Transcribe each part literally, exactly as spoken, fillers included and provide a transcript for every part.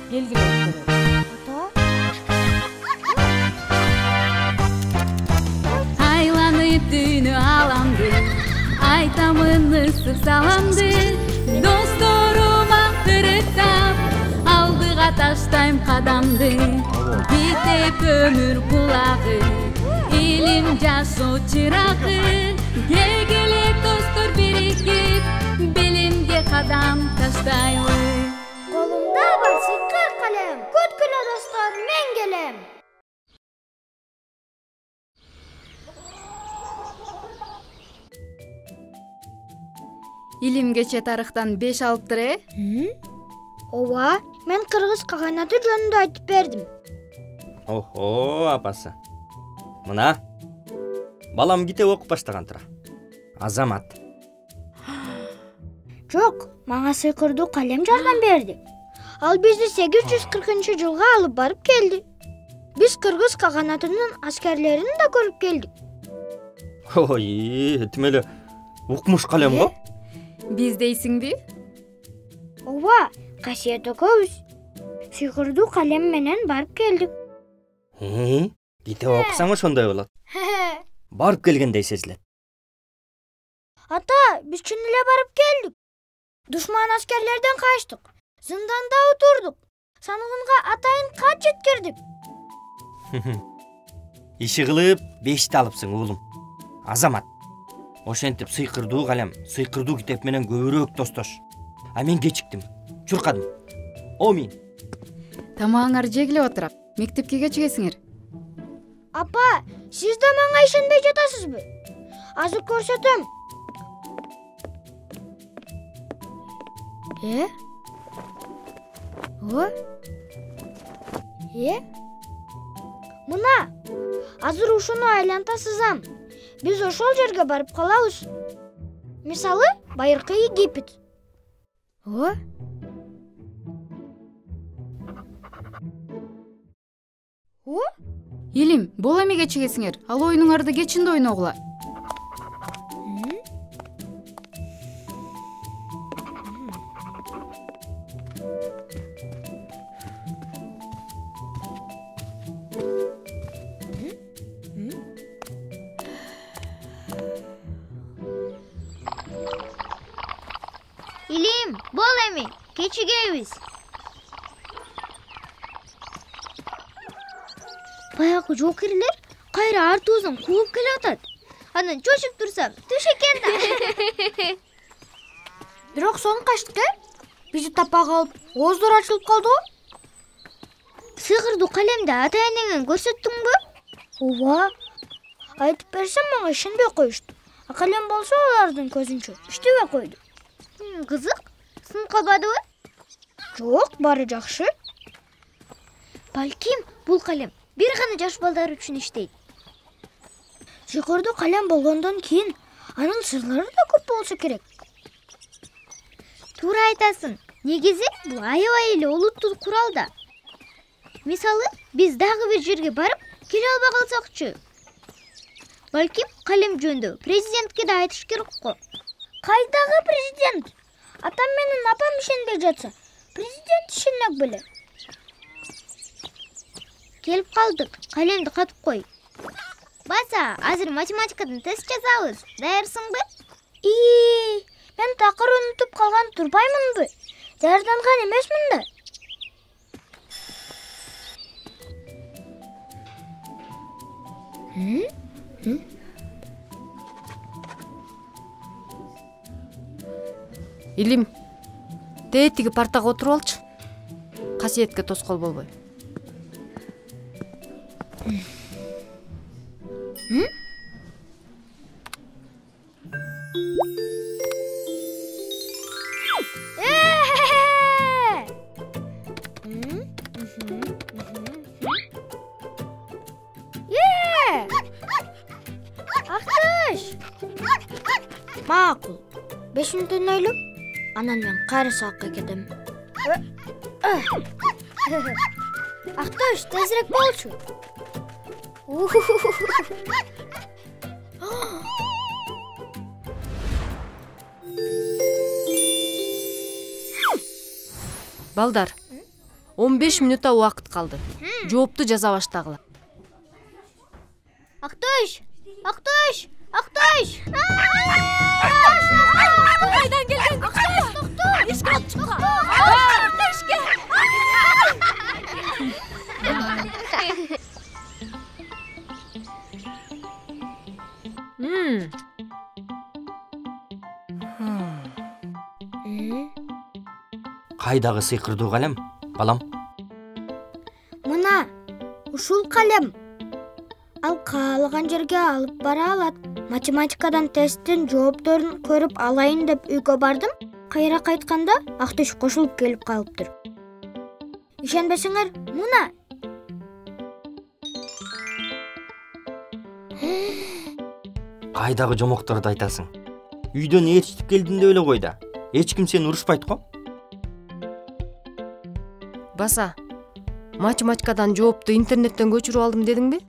Келгиле өткөрөлү. Айланып түнү аламды, айтамын ысык саламды. Досторума кырктап, алдыга таштайм кадамды. Кетип өмүр булагы, илим жашоо чырагы. Келгиле достор бирикип, билимге кадам таштайлы. Колумда бар сыйкыр калем, күткүлө достор, мен келем. Илим кече тарыхтан беш алыптыр, э? Ооба, мен кыргыз каганаты жөнүндө айтып бердим. Охо, апасы. Мына, балам китеп окуп баштаган тура. Азамат. Жок, мага сыйкырдуу калем жардам берди. Ал бизди сегиз жүз кыркынчы жылга алып барып келди. Биз кыргыз каганатынын аскерлерин да көрүп келдик. Ой, тим эле укмуш калем го? Биз дейсиңби? Ооба, Касиет экөөбүз сыйкырдуу калем менен барып келдик. Э, китеп окусаң ошондой болот. Барып келгендей сезилет. Ата, биз чын эле барып келдик. Душман аскерлерден качтык. Зынданда отурдук. Саныгынга атайын кат жеткирдик. Иши кылып бешти алыпсың уулум. Азамат. Ошентип сыйкырдуу калем, сыйкырдуу китеп менен көбүрөөк тостош. А мен кечиктим. Чуркадым. О мен. Тамагыңар жегиле отурап, мектепке кечигесиңер. Апа, сиз да мага ишенбей жатасызбы? Азыр көрсөтөм. Э? О? Э? Мына, азыр ушуну айланта сызам. Биз ошол жерге барып калабыз. Мисалы, байыркы Египет. О? О? Илим, бул эми кечигесиңер. Ал оюнуңарды кечинде ойногула. Илим, бол эми, кечигебиз. Баягы жокерлер кайра артыбыздан кууп келатат. Анан чочуп турсам, түш экен да. Бирок соң качтык, э? Бизди тапа калып, ооздор ачылып калды го. Сыйкырдуу калемди ата-энеңе көрсөттүңбү? Ооба. Айтып берсем мага ишенбей коюшту. А калем болсо алардын көзүнчө иштебей койду. Кызык, сынып калбадыбы? Жок, баары жакшы. Балким бул калем бир гана жаш балдар үчүн иштейт. Сыйкырдуу калем болгондон кийин анын сырлары да көп болсо керек. Туура айтасың. Негизи бул аябай эле олуттуу курал да. Мисалы, биз дагы бир жерге барып келе албай калсакчы. Балким калем жөнүндө президентке да айтыш керек го. Кайдагы президент? Атам менен апам ишенбей жатса, президент ишенек беле. Келип калдык, калемди катып кой. Баса, азыр математикадан тест жазабыз. Даярсыңбы? Ии, мен такыр унутуп калган турбаймынбы? Даярданган эмесмин да. Илим, тетиги партага отуруп алчы. Касиетке тоскоол болбой. Актыш! Макул. беш мүнөттөн ойлоп, анан мен кайра сабакка кетем. Актыш, тезирээк болчу. Балдар, он беш мүнөттө убакыт калды. Жоопту жаза баштагыла. Актош! Актош! Актош! Кайдан келген? Актош, токто! Эшикти алып чыкка. Эшикке. Хм. Кайдагы сыйкырдуу калем, балам? Мына, ушул калем. Ал каалаган жерге алып бара алат. Математикадан тесттин жоопторун көрүп алайын деп үйгө бардым. Кайра кайтканда Актош кошулуп келип калыптыр. Ишенбесеңер, мына. Кайдагы жомокторду айтасың? Үйдөн ээрчитип келдим деп эле кой да. Эч ким сени урушпайт го. Баса, математикадан жоопту интернеттен көчүрүп алдым дедиңби?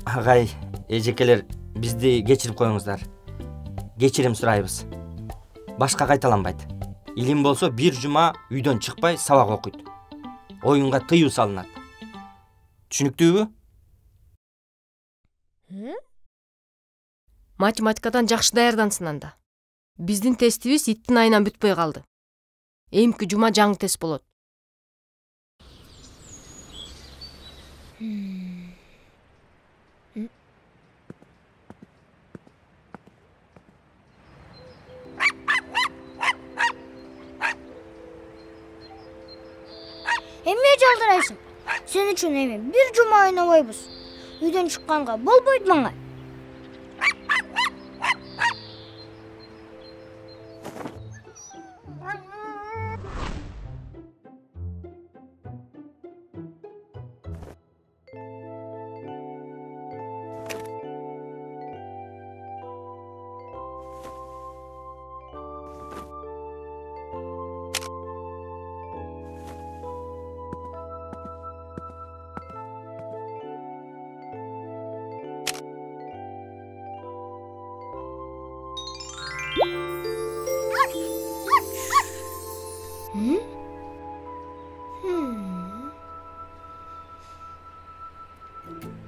Агай, эжекелер, бизди кечирип коюңуздар. Кечирим сурайбыз. Башка кайталанбайт. Илим болсо бир жума үйдөн чыкпай сабак окуйт. Оюнга тыюу салынат. Түшүнүктүүбү? Математикадан жакшы даярдансın анда. Биздин тестибиз иттин айынан бүтпөй калды. Эмки жума жаңы тест болот. Эмне жалдырайсың? Сен үчүн эми бир жума ойнобойбуз. Үйдөн чыкканга болбойт мага.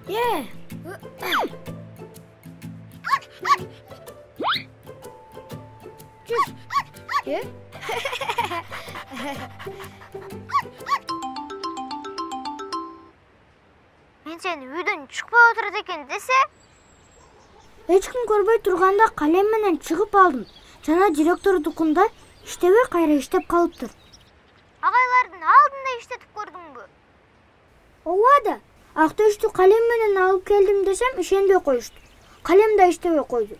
Yeah. Just. Yeah. Мен сени үйдөн чыкпай отурат экен десе? Эч ким көрбөй турганда калем менен чыгып алдым. Жана директордукунда иштебей кайра иштеп калыптыр. Агайлардын алдында иштетип көрдүңбү? Ооба да. Актошту калем менен алып келдим десем ишенбей коюшту. Калем да иштебей койду.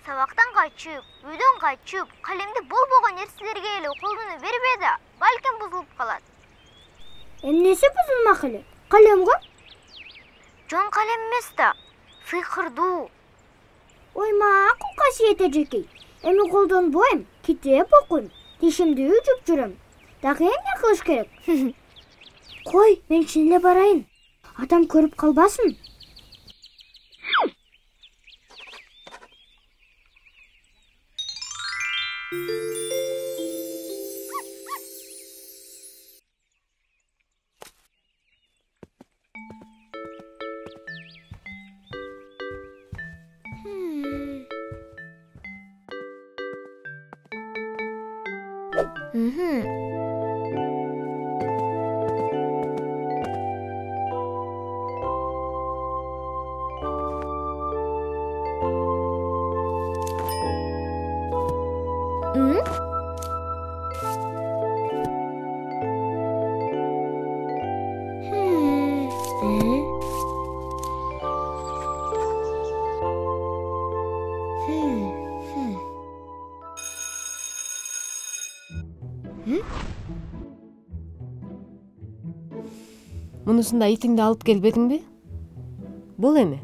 Сабактан качып, үйдөн качып, калемди болбогон нерселерге эле колдоно бербей да, балким бузулуп калат. Эмнеси бузулмак эле? Калем го? Жон калем эмес да, сыйкырдуу. Ой, макул касиет эжекей. Эми колдонбойм, китеп окуйм, тишимди үжүп жүрөм. Дагы эмне кылыш керек? Кой, мен чын эле барайын. Атам көрүп калбасын. Mhm. Hmm? Hmm. Hmm. Hmm. Hmm. Мунусунда итиңди алып келбедиңби? Бул эми.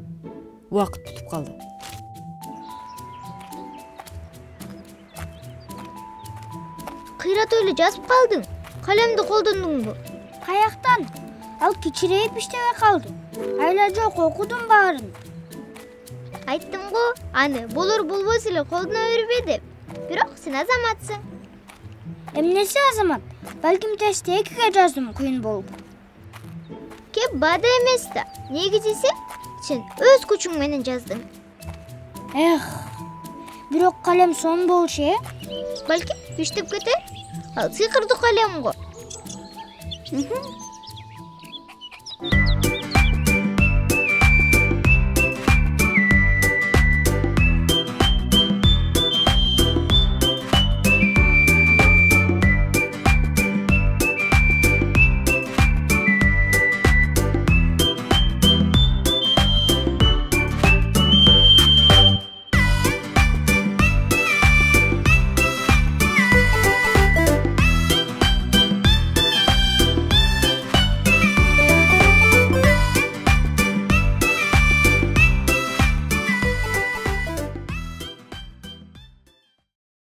Убакыт бүтүп калды. Кыйратып эле жазып калдың. Калемди колдондуңбу? Каяктан? Ал кичирейип иштебей калды. Айла жок, окудум баарын. Айттым го, аны болор болбос эле колдоно бербе деп. бирок сен Азаматсың. Эмнеси Азамат? Балким тестти экиге жаздым, кыйын болду. Кеп бада эмес да. Негизиси сен өз күчүң менен жаздың. Эх, бирок калем сонун болчу, э? Балким иштеп кетер. Ал сыйкырдуу калем го.